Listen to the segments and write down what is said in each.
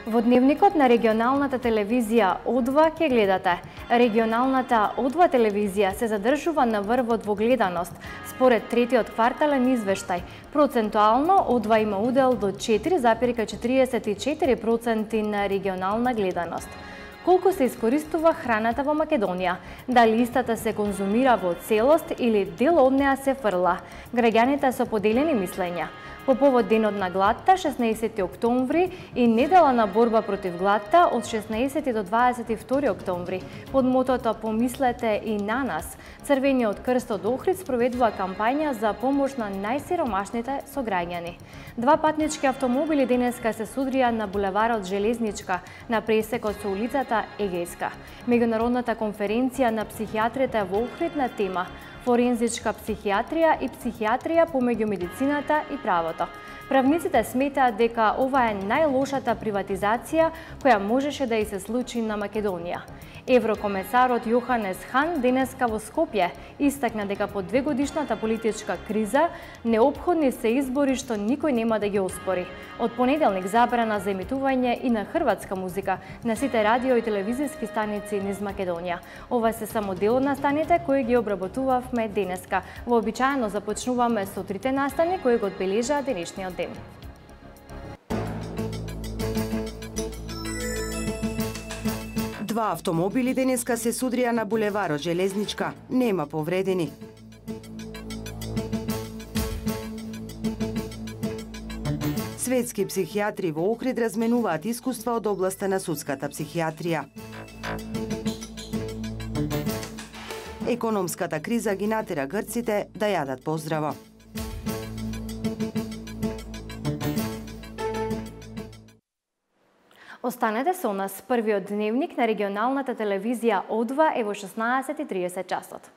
Во дневникот на регионалната телевизија О2 ќе гледате. Регионалната О2 телевизија се задржува на врвот во гледаност. Според третиот квартален извештај, процентуално О2 има удел до 4,44% на регионална гледаност. Колку се искористува храната во Македонија? Дали истата се конзумира во целост или дел од неа се фрла? Граѓаните со поделени мислења. По повод денот на гладта, 16 октомври и недела на борба против гладта од 16 до 22 октомври, под мотото "Помислете и на нас", Црвениот крст од Охрид спроведува кампања за помош на најсиромашните сограѓани. Два патнички автомобили денеска се судрија на булеварот Железничка, на пресекот со улицата Егејска. Меѓународната конференција на психијатриите во Охрид на тема форензичка психијатрија и психијатрија помеѓу медицината и правото. Правниците сметаат дека ова е најлошата приватизација која можеше да и се случи на Македонија. Еврокомесарот Јоханес Хан денеска во Скопје истакна дека по двегодишната политичка криза неопходни се избори што никој нема да ги оспори. Од понеделник забрана за емитување и на хрватска музика на сите радио и телевизиски станици низ Македонија. Ова се само дел од настаните кои ги обработувавме денеска. Вообичаено започнуваме со трите настани кои го одбележаа денешниот ден. Два автомобили денеска се судрија на булеварот Железничка. Нема повредени. Светски психијатри во Охрид разменуваат искуства од областа на судската психијатрија. Економската криза ги натера грците да јадат поздраво. Останете со нас. Првиот дневник на регионалната телевизија О2 е во 16:30 часот.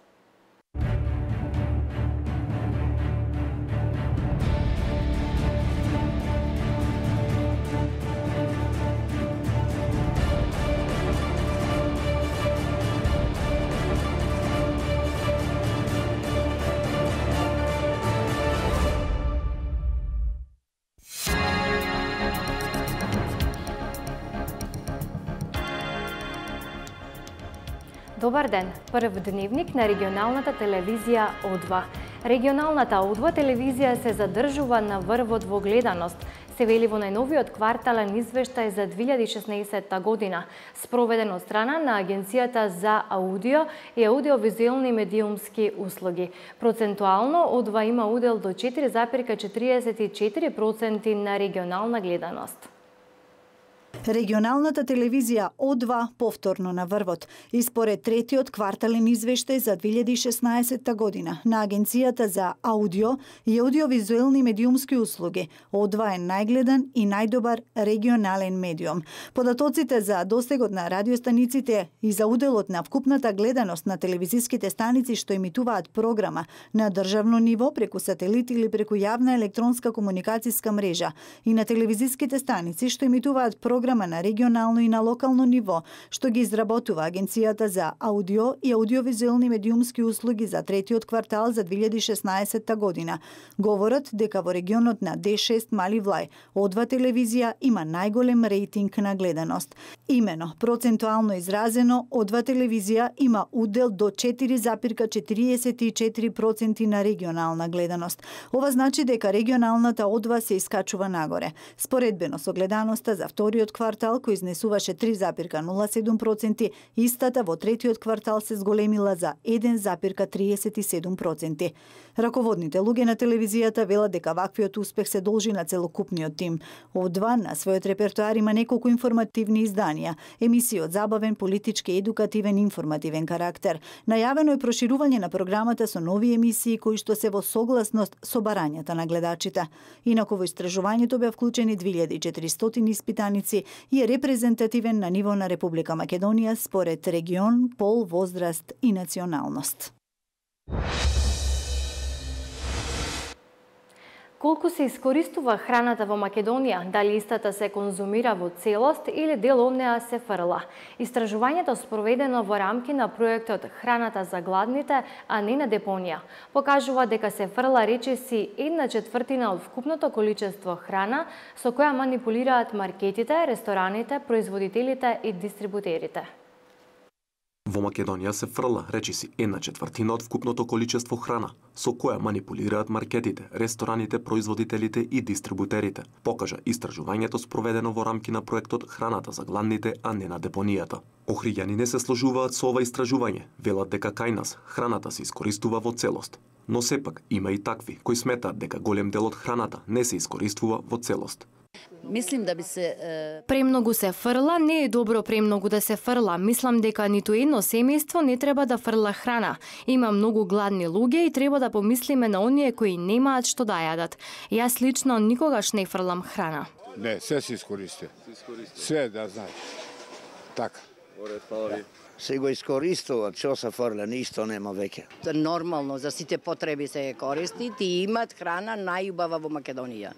Добар ден, прв дневник на регионалната телевизија О2. Регионалната О2 телевизија се задржува на врвот во гледаност, се вели во најновиот квартален извештај за 2016 година, спроведен од страна на Агенцијата за аудио и аудиовизуелни медиумски услуги. Процентуално О2 има удел до 4,44% на регионална гледаност. Регионалната телевизија О2 повторно на врвот и според третиот квартален извештај за 2016 година на Агенцијата за аудио и аудиовизуелни медиумски услуги, О2 е најгледан и најдобар регионален медиум. Податоците за достигот на радиостаниците и за уделот на вкупната гледаност на телевизиските станици што емитуваат програма на државно ниво преку сателит или преку јавна електронска комуникацијска мрежа и на телевизиските станици што емитуваат програма на регионално и на локално ниво, што ги изработува Агенцијата за аудио и аудиовизуелни медиумски услуги за третиот квартал за 2016 година, говорат дека во регионот на Д6 Мали Влај, О2 телевизија има најголем рейтинг на гледаност. Имено, процентуално изразено, О2 телевизија има удел до 4,44% на регионална гледаност. Ова значи дека регионалната О2 се искачува нагоре. Споредбено со гледаноста за вториот квартал кој изнесуваше 3,07%, истата во третиот квартал се зголемила за 1,37%. Раководните луѓе на телевизијата велат дека ваквиот успех се должи на целокупниот тим. О2 на својот репертоар има неколку информативни изданија, емисии од забавен, политички, едукативен, информативен карактер. Најавено е проширување на програмата со нови емисии кои што се во согласност со барањата на гледачите. Инаку во истражувањето беа вклучени 2400 испитаници и е репрезентативен на ниво на Република Македонија според регион, пол, возраст и националност. Колку се искористува храната во Македонија, дали истата се конзумира во целост или дел од неа се фрла? Истражувањето спроведено во рамки на проектот Храната за гладните, а не на депонија, покажува дека се фрла речиси 1/4 од вкупното количество храна со која манипулираат маркетите, рестораните, производителите и дистрибутерите. Во Македонија се фрла речиси 1/4 од вкупното количество храна, со која манипулираат маркетите, рестораните, производителите и дистрибутерите, покажа истражувањето спроведено во рамки на проектот Храната за гладните, а не на депонијата. Охриѓани не се сложуваат со ова истражување, велат дека кај нас храната се искористува во целост. Но сепак има и такви кои сметаат дека голем дел од храната не се искористува во целост. Мислим да би се Премногу се фрла, не е добро премногу да се фрла. Мислам дека ниту едно семејство не треба да фрла храна. Има многу гладни луѓе и треба да помислиме на оние кои немаат што да јадат. Јас лично никогаш не фрлам храна. Не, се се искористи. Се да знаеш. Така. Се го искористува, што се фрла, ништо нема веќе. Нормално за сите потреби се користи и имат храна најубава во Македонија.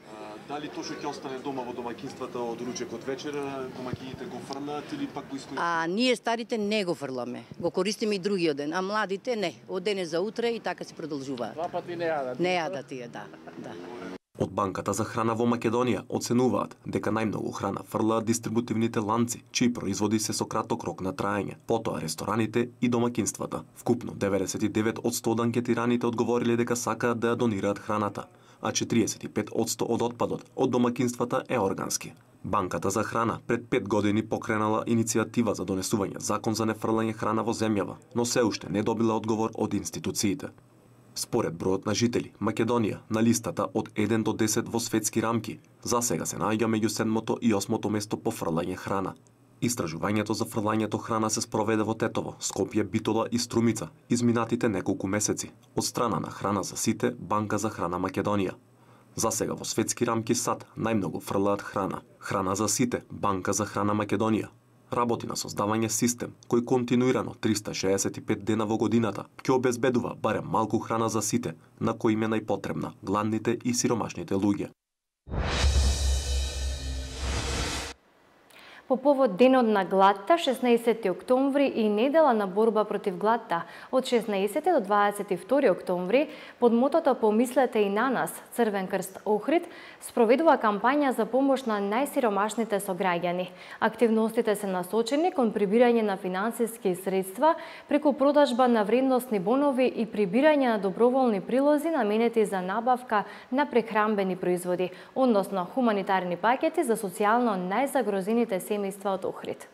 Дали тоа што ќе остане дома во домаќинствата од ручек од вечера, домаќините го фрлаат или пак го искористуваат? Ние старите не го фрламе, го користиме и другиот ден, а младите не, од денес за утре и така се продолжува. Два пати не јадат. Не јадат тие, да. Од Банката за храна во Македонија оценуваат дека најмногу храна фрлаат дистрибутивните ланци, чии производи се со краток рок на траење, потоа рестораните и домаќинствата. Вкупно 99% од анкетираните одговориле дека сакаат да ја донираат храната, а 45% од отпадот од домаќинствата е органски. Банката за храна пред 5 години покренала иницијатива за донесување закон за нефрлање храна во земјава, но се уште не добила одговор од институциите. Според бројот на жители, Македонија на листата од 1 до 10 во светски рамки, засега се наоѓа меѓу 7-то и 8-то место по фрлање храна. Истражувањето за фрлањето храна се спроведе во Тетово, Скопје, Битола и Струмица изминатите неколку месеци од страна на Храна за сите, Банка за храна Македонија. Засега во светски рамки САД најмногу фрлаат храна. Храна за сите, Банка за храна Македонија работи на создавање систем кој континуирано 365 дена во годината ќе обезбедува барем малку храна за сите, на кои им е најпотребна, гладните и сиромашните луѓе. По повод Денот на гладта, 16 октомври и недела на борба против гладта, од 16 до 22 октомври, под мотото "Помислете и на нас", Црвен крст Охрид спроведува кампања за помош на најсиромашните сограѓани. Активностите се насочени кон прибирање на финансиски средства преку продажба на вредносни бонови и прибирање на доброволни прилози наменети за набавка на прехранбени производи, односно хуманитарни пакети за социјално најзагрозените семејства од Охрид.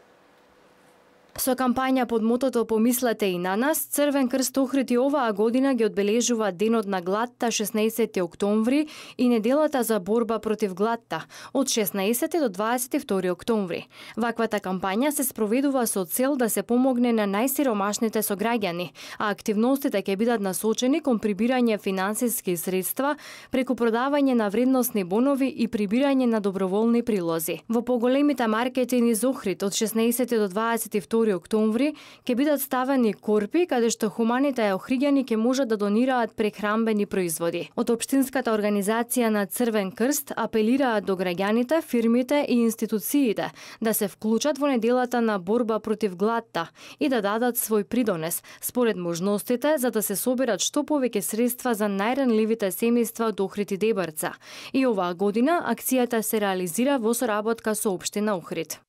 Со кампања под мотото "Помислете и на нас", Црвен крст Охрид и оваа година ги одбележува Денот на гладта 16 октомври и неделата за борба против гладта од 16 до 22 октомври. Ваквата кампања се спроведува со цел да се помогне на најсиромашните сограѓани, а активностите ќе бидат насочени кон прибирање финансиски средства преку продавање на вредносни бонови и прибирање на доброволни прилози. Во поголемите маркети низ Охрид од 16 до 22 октомври ќе бидат ставени корпи каде што хуманите охриѓани ќе можат да донираат прехранбени производи. Од општинската организација на Црвен крст апелираат до граѓаните, фирмите и институциите да се вклучат во неделата на борба против гладта и да дадат свој придонес според можностите за да се соберат што повеќе средства за најранливите семејства од Охрид и Дебарца. И оваа година акцијата се реализира во соработка со општина Охрид.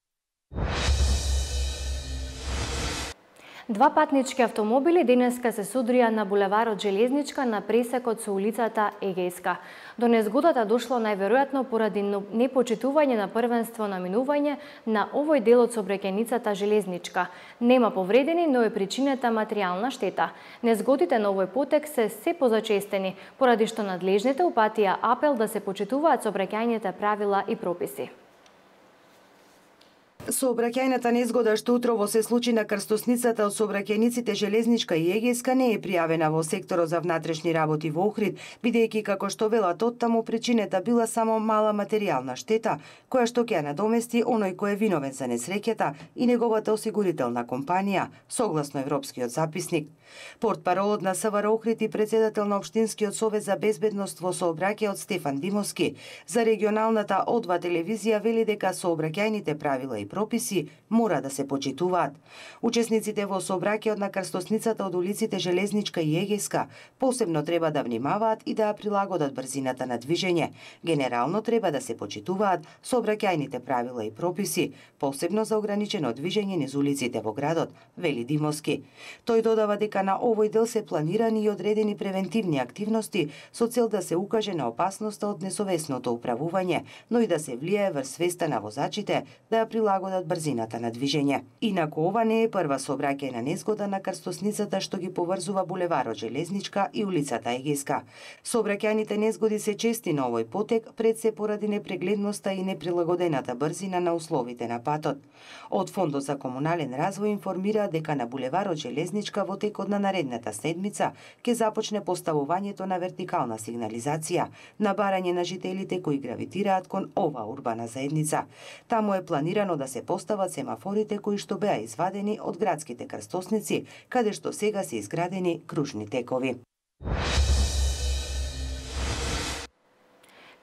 Два патнички автомобили денеска се судрија на булеварот Железничка на пресекот со улицата Егејска. До незгодата дошло најверојатно поради непочитување на првенство на минување на овој дел од сообраќајницата Железничка. Нема повредени, но е причинета материјална штета. Незгодите на овој потек се позачестени, поради што надлежните упатија апел да се почитуваат сообраќајните правила и прописи. Сообраќајната незгода што утрово се случи на крстосницата од сообраќајниците Железничка и Егејска не е пријавена во секторот за внатрешни работи во Охрид, бидејќи како што велат оттаму причинета била само мала материјална штета, која што ќе ја надомести оној кој е виновен за несреќата и неговата осигурителна компанија, согласно Европскиот записник. Портпаролот на СВР Охрид и председател на Општинскиот совет за безбедност во сообраќајот Стефан Димовски за регионалната О2 телевизија вели дека сообраќајните правила и прописи мора да се почитуваат. Учесниците во сообраќајот на крстосницата од улиците Железничка и Егејска посебно треба да внимаваат и да ја прилагодат брзината на движење. Генерално треба да се почитуваат сообраќајните правила и прописи, посебно за ограничено движење низ улиците во градот, вели Димовски. Тој додава дека на овој дел се планирани и одредени превентивни активности со цел да се укаже на опасноста од несовесното управување, но и да се влијае врз свеста на возачите да ја прилагодат брзината на движење. Инаку ова не е прва сообраќајна незгода на крстосницата што ги поврзува булеварот Железничка и улицата Егејска. Сообраќајните незгоди се чести на овој потек, пред се поради непрегледноста и неприлагодената брзина на условите на патот. Од Фондот за комунален развој информира дека на булеварот Железничка во текот на наредната седмица ќе започне поставувањето на вертикална сигнализација на барање на жителите кои гравитираат кон ова урбана заедница. Таму е планирано да се постават семафорите кои што беа извадени од градските крстосници, каде што сега се изградени кружни текови.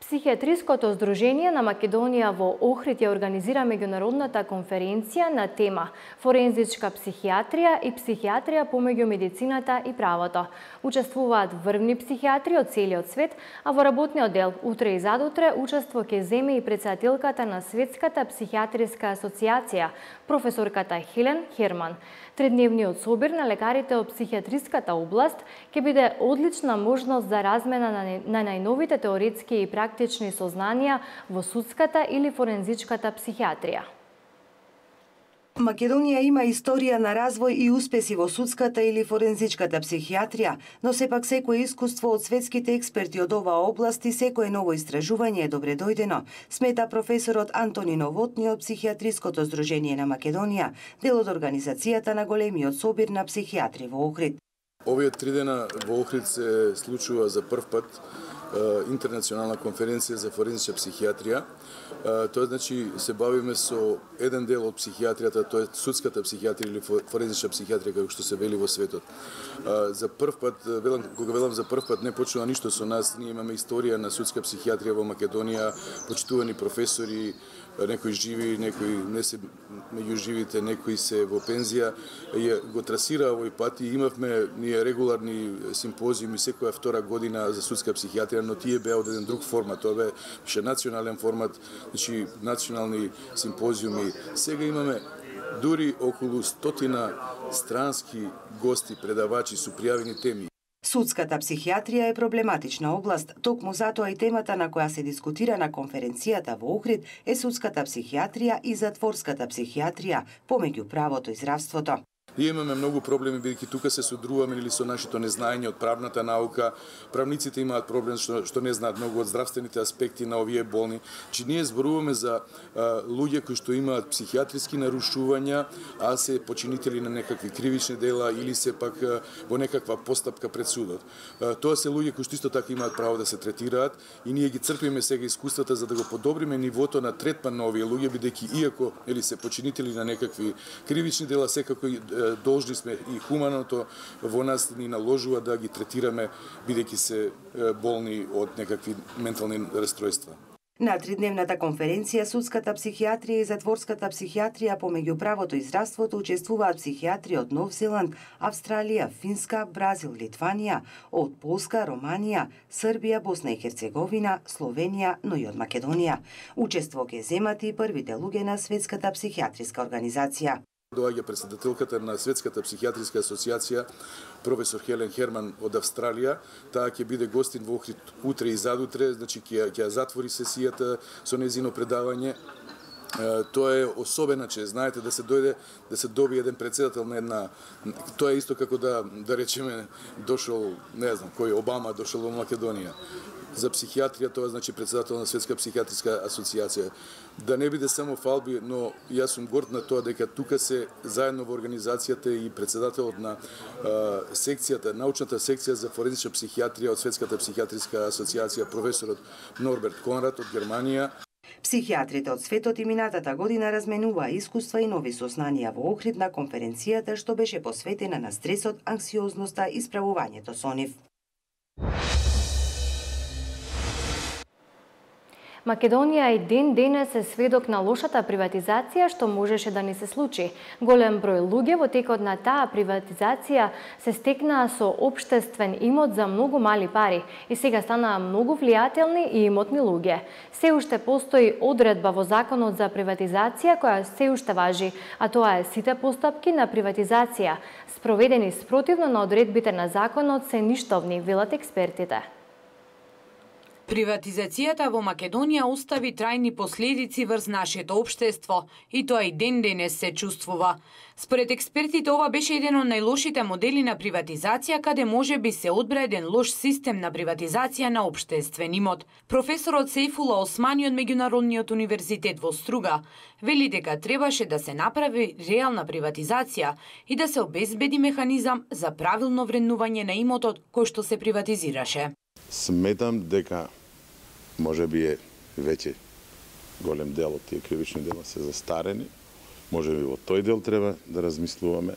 Психијатриското здружение на Македонија во Охрид ја организира меѓународната конференција на тема Форензичка психијатрија и психијатрија помеѓу медицината и правото. Учествуваат врвни психијатри од целиот свет, а во работниот дел утре и задутре учество ќе земе и претседателката на Светската психијатриска асоциација, професорката Хелен Херман. Тредневниот собир на лекарите од психијатриската област ќе биде одлична можност за размена на најновите теоретски и практични сознанија во судската или форензичката психијатрија. Македонија има историја на развој и успеси во судската или форензичката психијатрија, но сепак секое искуство од светските експерти од оваа област и секое ново истражување е добре дојдено, смета професорот Антони Новотни од Психијатриското здружение на Македонија, дел од организацијата на големиот собир на психијатри во Охрид. Овие 3 дена во Охрид се случува за прв пат интернационална конференција за форензичка психијатрија. Тоа значи се бавиме со еден дел од психијатријата, тоа е судската психијатрија или форензичка психијатрија како што се вели во светот. За прв пат, кога велам за прв пат, не почнува ништо со нас. Ние имаме историја на судска психијатрија во Македонија, почитувани професори, некои живи, некои не се меѓу живите, некои се во пензија, го трасира овој пат и имавме ние регуларни симпозиуми секоја втора година за судска психијатрија, но тие беа од еден друг формат, тоа бе беше национален формат, значи национални симпозиуми. Сега имаме дури околу 100 странски гости, предавачи со пријавени теми. Судската психијатрија е проблематична област, токму затоа и темата на која се дискутира на конференцијата во Охрид е судската психијатрија и затворската психијатрија помеѓу правото и здравството. Ние имаме многу проблеми, бидејќи тука се содруваме или со нашето незнаење од правната наука. Правниците имаат проблем што не знаат многу од здравствените аспекти на овие болни. Че ние зборуваме за луѓе кои што имаат психијатриски нарушувања, а се починители на некакви кривични дела или се пак во некаква постапка пред судот. Тоа се луѓе кои што исто така имаат право да се третираат и ние ги црпиме сега искуствата за да го подобриме нивото на третман на овие луѓе, бидејќи иако или се починители на некакви кривични дела, секако должни сме и хуманото во нас ни наложува да ги третираме бидејќи се болни од некакви ментални расстройства. На тридневната конференција Судската психијатрија и Затворската психијатрија помеѓу правото и здравството учествуваат психијатри од Нов Зеланд, Австралија, Финска, Бразил, Литванија, од Полска, Романија, Србија, Босна и Херцеговина, Словенија, но и од Македонија. Учество ќе земат и првите луѓе на Светската психијатриска организација. Доаѓа претседателката на Светската психијатриска асоциација, професор Хелен Херман од Австралија. Таа ќе биде гостин во Охрид утре и задутре, значи ќе затвори сесијата со нејзино предавање. Тоа е особена чест, знаете, да се дојде, да се добие еден претседател на една... Тоа е исто како да речеме, дошол, не знам, кој Обама дошол во Македонија. За психијатрија, тоа значи претседател на Светска психијатриска асоциација. Да не биде само фалби, но јас сум горд на тоа дека тука се заедно во организацијата и претседателот на секцијата, научната секција за форензичка психијатрија од Светската психијатриска асоциација, професорот Норберт Конрад од Германија. Психијатрите од светот и минатата година разменуваа искуства и нови сознанија во Охрид на конференцијата што беше посветена на стресот, анксиозноста и справувањето со нив. Македонија и ден денес е сведок на лошата приватизација што можеше да ни се случи. Голем број луѓе во текот на таа приватизација се стекнаа со општествен имот за многу мали пари и сега станаа многу влијателни и имотни луѓе. Се уште постои одредба во Законот за приватизација која се уште важи, а тоа е сите постапки на приватизација спроведени спротивно на одредбите на законот се ништовни, велат експертите. Приватизацијата во Македонија остави трајни последици врз нашето општество и тоа и ден денес се чувствува. Според експертите ова беше еден од најлошите модели на приватизација каде може би се одбра еден лош систем на приватизација на општествен имот. Професорот Сейфула Османи од Меѓународниот универзитет во Струга вели дека требаше да се направи реална приватизација и да се обезбеди механизам за правилно вреднување на имотот кој што се приватизираше. Сметам дека може би е веќе голем дел од тие кривични дела се застарени. Може би во тој дел треба да размислуваме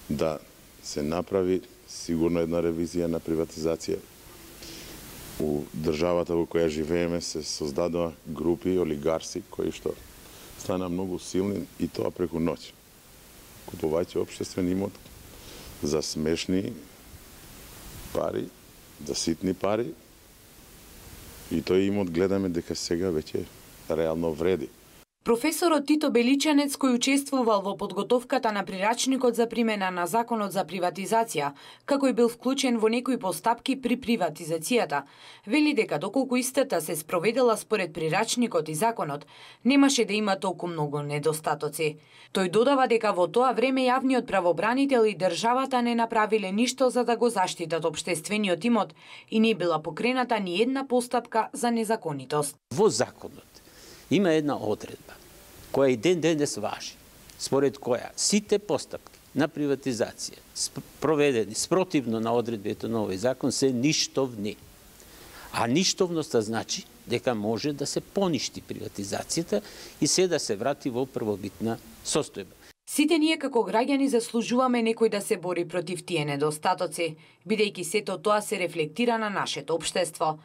да се направи сигурно една ревизија на приватизација. У државата во која живееме се создадоа групи олигарси кои што стана многу силни и тоа преку ноќ. Купувајќи општествен имот за смешни пари, за ситни пари, и тој имот гледаме дека сега веќе реално вреди. Професорот Тито Беличанец, кој учествувал во подготовката на прирачникот за примена на Законот за приватизација, како и бил вклучен во некои постапки при приватизацијата, вели дека доколку истата се спроведела според прирачникот и законот, немаше да има толку многу недостатоци. Тој додава дека во тоа време јавниот правобранител и државата не направиле ништо за да го заштитат општествениот имот и не била покрената ни една постапка за незаконитост. Во законот има една одредба која и ден денес важи, според која сите постапки на приватизација проведени спротивно на одредбите на овој закон се ништовни. А ништовноста значи дека може да се поништи приватизацијата и се да се врати во првобитна состојба. Сите ние како граѓани заслужуваме некој да се бори против тие недостатоци, бидејќи сето тоа се рефлектира на нашето општество.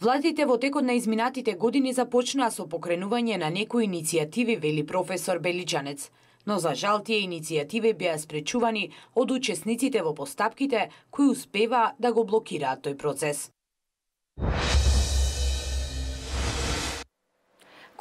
Владите во текот на изминатите години започнаа со покренување на некои иницијативи, вели професор Беличанец, но за жал тие иницијативи беа спречувани од учесниците во постапките кои успеваа да го блокираат тој процес.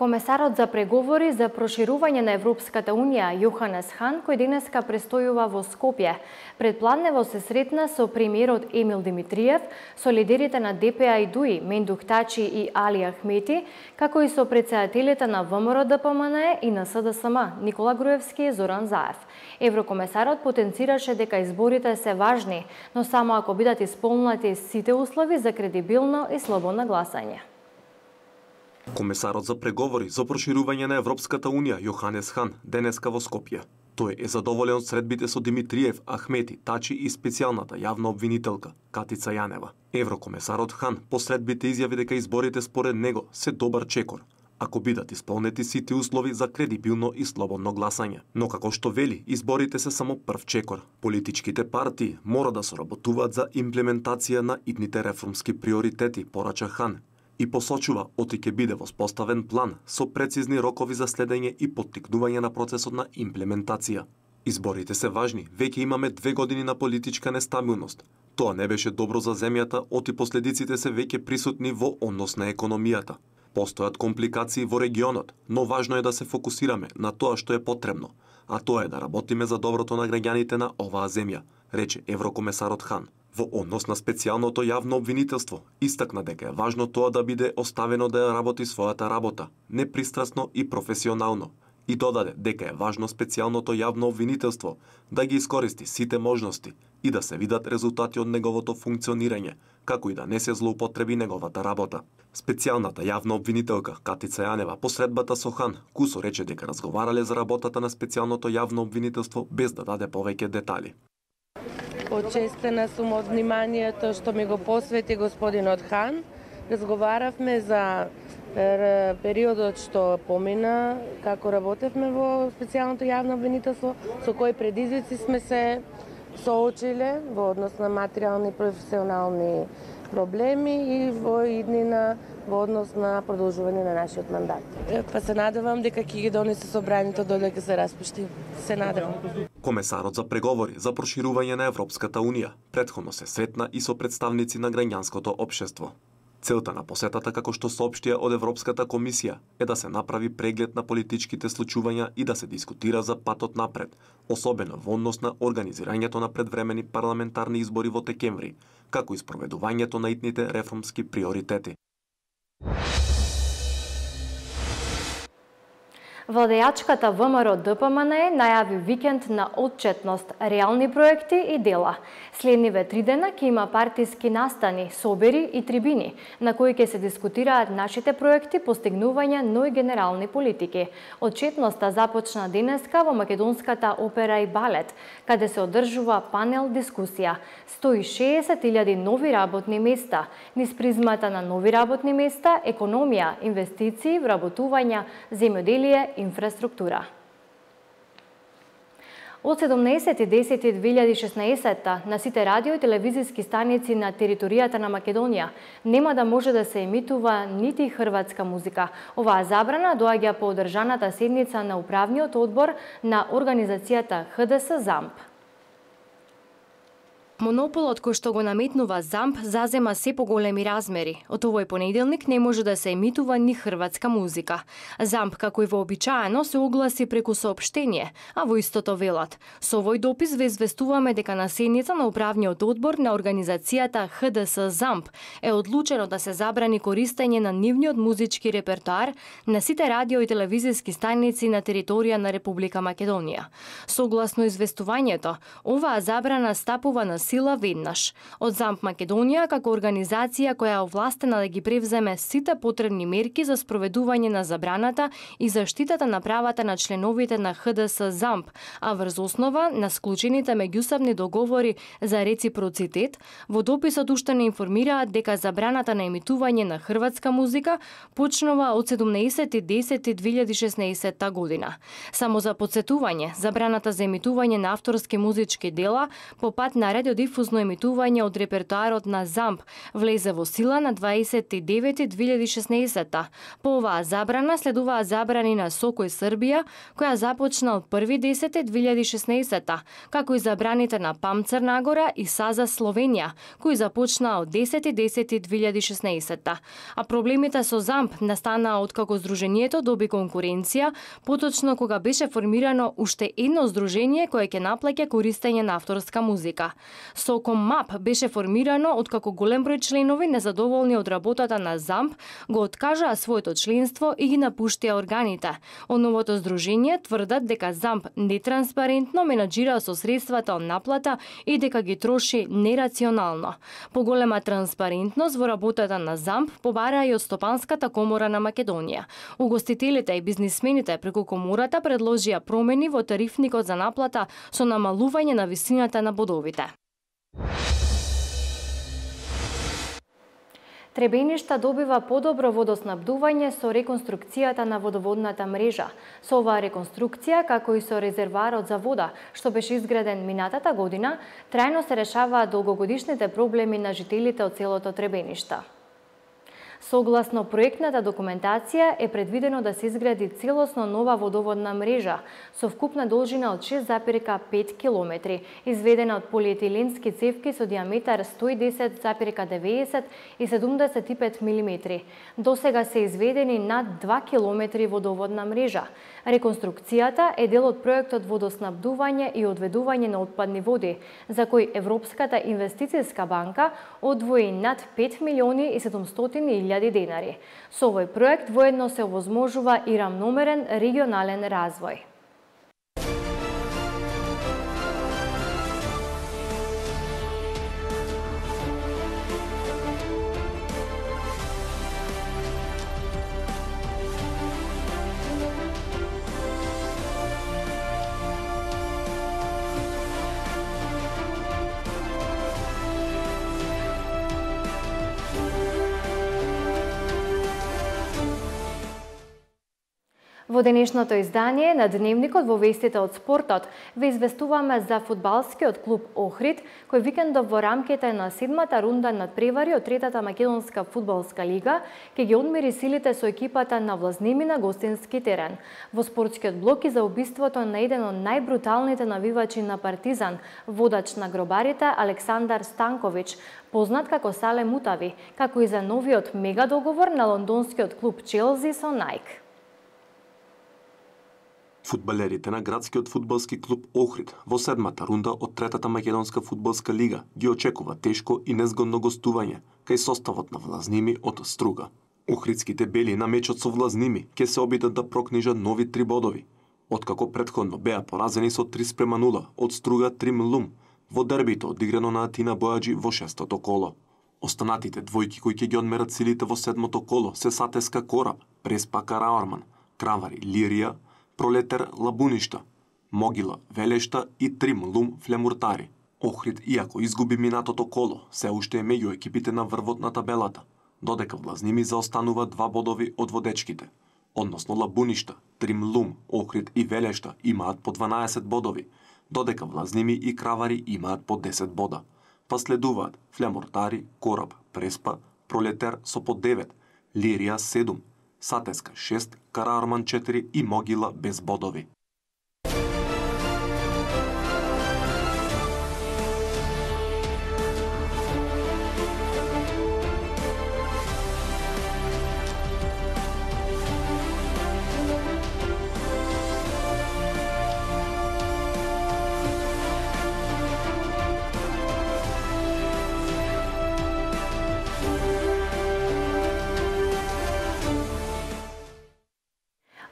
Комесарот за преговори за проширување на Европската Унија Јоханес Хан, кој денеска престојува во Скопје, предпладнево се сретна со премиерот Емил Димитриев, со лидерите на ДПА и ДУИ Мендух Тачи и Али Ахмети, како и со претседателите на ВМРО ДПМНЕ и на СДСМ Никола Груевски и Зоран Заев. Еврокомесарот потенцираше дека изборите се важни, но само ако бидат исполнети сите услови за кредибилно и слободно гласање. Комесарот за преговори за проширување на Европската Унија Јоханес Хан денеска во Скопје. Тој е задоволен од средбите со Димитриев, Ахмети, Тачи и специјалната јавна обвинителка Катица Јанева. Еврокомесарот Хан по средбите изјави дека изборите според него се добар чекор, ако бидат исполнети сите услови за кредибилно и слободно гласање. Но како што вели, изборите се само прв чекор. Политичките партии мора да соработуваат за имплементација на идните реформски приоритети, порача Хан, и посочува оти ќе биде воспоставен план со прецизни рокови за следење и поттикнување на процесот на имплементација. Изборите се важни, веќе имаме 2 години на политичка нестабилност. Тоа не беше добро за земјата, оти последиците се веќе присутни во однос на економијата. Постојат компликации во регионот, но важно е да се фокусираме на тоа што е потребно, а тоа е да работиме за доброто на граѓаните на оваа земја, рече еврокомесарот Хан. Во однос на специјалното јавно обвинителство, истакна дека е важно тоа да биде оставено да ја работи својата работа, непристрасно и професионално, и додаде дека е важно специјалното јавно обвинителство да ги искористи сите можности и да се видат резултати од неговото функционирање, како и да не се злоупотреби неговата работа. Специјалната јавна обвинителка Катица Јанева по средбата со Хан кусо рече дека разговарале за работата на специјалното јавно обвинителство без да даде повеќе детали. Почестена сум од вниманието што ми го посвети господинот Хан. Разговаравме за Периодот што помина, како работевме во специјалното јавно обвинителство, со кои предизвици сме се соочиле во однос на материјални и професионални проблеми и во иднина во однос на продолжување на нашиот мандат. Па се надевам дека ќе ги донесе собранието додека се распушти. Се надевам. Комесарот за преговори за проширување на Европската Унија претходно се сретна и со представници на граѓанското општество. Целта на посетата, како што соопштија од Европската комисија, е да се направи преглед на политичките случувања и да се дискутира за патот напред, особено во однос на организирањето на предвремени парламентарни избори во декември, како и спроведувањето на итните реформски приоритети. Владејачката ВМРО ДПМН најави викенд на отчетност, реални проекти и дела. Следниве 3 дена ќе има партиски настани, собери и трибини, на кои ќе се дискутираат нашите проекти, постигнувања, но и генерални политики. Отчетноста започна денеска во Македонската опера и балет, каде се одржува панел дискусија. 160.000 нови работни места, низ призмата на нови работни места, економија, инвестиции, вработувања, земјоделие, инфраструктура. Од 17.10.2016 на сите радио и телевизиски станици на територијата на Македонија нема да може да се емитува нити хрватска музика. Оваа забрана доаѓа по одржаната седница на управниот одбор на организацијата ХДС ЗАМП. Монополот кој што го наметнува ЗАМП зазема се поголеми размери. Од овој понеделник не може да се емитува ни хрватска музика. ЗАМП, како и вообичаено, се огласи преку соопштение, а во истото велат: со овој допис ве известуваме дека на седница на управниот одбор на организацијата ХДС ЗАМП е одлучено да се забрани користење на нивниот музички репертоар на сите радио и телевизиски станици на територија на Република Македонија. Согласно известувањето, оваа забрана стапува на сила веднаш. Од ЗАМП Македонија, како организација која е овластена да ги превземе сите потребни мерки за спроведување на забраната и заштитата на правата на членовите на ХДС ЗАМП, а врз основа на склучените меѓусебни договори за реципроцитет, во дописот уште не информираат дека забраната на емитување на хрватска музика почнува од 17.10.2016 година. Само за подсетување, забраната за емитување на авторски музички дела по пат на радиодифузно емитување од репертоарот на ЗАМП влезе во сила на 20.9.2016. По оваа забрана следуваа забрани на Сокој Србија, која започна од 1.10.2016, како и забраните на ПАМ Црнагора и САЗА Словенија, кои започнаа од 10.10.2016. А проблемите со ЗАМП настанаа откако здруженијето доби конкуренција, поточно кога беше формирано уште едно здружение кое ќе наплаќа користење на авторска музика. Соком МАП беше формирано откако голем број членови незадоволни од работата на ЗАМП го откажаа своето членство и ги напуштија органите. Од новото здружение тврдат дека ЗАМП нетранспарентно менаџира со средствата од наплата и дека ги троши нерационално. Поголема транспарентност во работата на ЗАМП побараа и од Стопанската комора на Македонија. Угостителите и бизнисмените преку комората предложија промени во тарифникот за наплата со намалување на висината на бодовите. Требеништа добива подобро водоснабдување со реконструкцијата на водоводната мрежа. Со оваа реконструкција, како и со резервоарот за вода, што беше изграден минатата година, трајно се решаваат долгогодишните проблеми на жителите од селото Требеништа. Согласно проектната документација е предвидено да се изгради целосно нова водоводна мрежа со вкупна должина од 6,5 км, изведена од полиетиленски цевки со диаметар 110,90 и 75 мм. Досега се изведени над 2 км водоводна мрежа. Реконструкцијата е дел од проектот водоснабдување и одведување на отпадни води, за кој Европската инвестицијска банка одвои над 5.700.000 денари. Со овој проект воедно се овозможува и рамномерен регионален развој. Во денешното издание на Дневникот во вестите од спортот ве известуваме за фудбалскиот клуб Охрид, кој викендов во рамките на 7-та рунда надпревари од 3-та македонска фудбалска лига ќе ги одмери силите со екипата на Влазними на гостински терен. Во спортскиот блок и за убиството на еден од најбруталните навивачи на Партизан, водач на гробарите Александар Станкович, познат како Сале Мутави, како и за новиот мега договор на лондонскиот клуб Челси со Nike. Фудбалерите на градскиот фудбалски клуб Охрид во 7-та рунда од 3-та македонска фудбалска лига ги очекува тешко и незгодно гостување кај составот на Влазними од Струга. Охридските бели на мечот со Влазними ќе се обидат да прокнижат нови 3 бодови, откако претходно беа поразени со 3:0 од Струга Тримлум во дербито одиграно на Атина Бојаджи во 6-то коло. Останатите двојки кои ќе ги одмерат силите во 7-то коло се Сатеска Кораб, Преспа Караорман, Кравари Лирија, Пролетер Лабуништа, Могила Велешта и Тримлум Флемуртари. Охрид, иако изгуби минатото коло, се уште е меѓу екипите на врвот на табелата, додека Влазними заостанува 2 бодови од водечките. Односно Лабуништа, Тримлум, Охрид и Велешта имаат по 12 бодови, додека Влазними и Кравари имаат по 10 бода. Па следуваат Флемуртари, Кораб, Преспа, Пролетер со по 9, Лирија 7, Сатеска 6, Караорман 4 и Могила без бодови.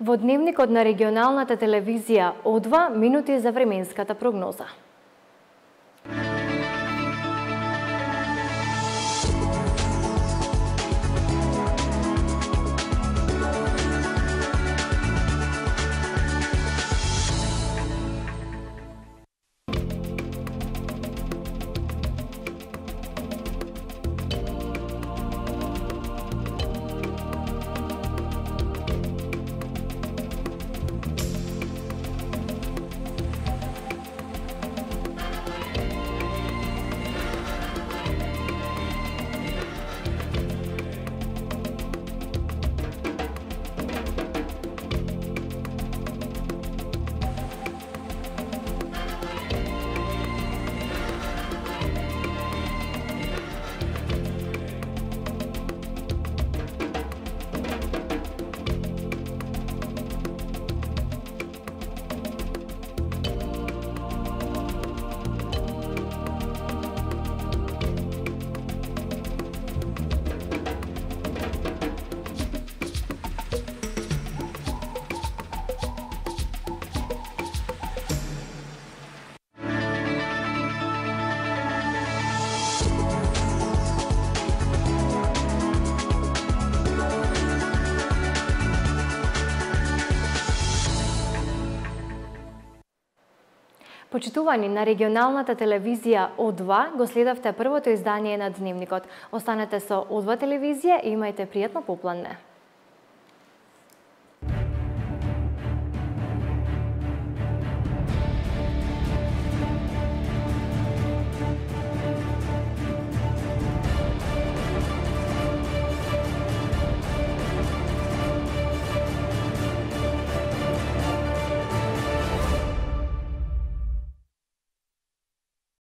Во Дневникот на регионалната телевизија О2 минути за временската прогноза. Почитувани на регионалната телевизија О2, го следавте првото издание на Дневникот. Останете со О2 телевизија и имајте пријатно попладне.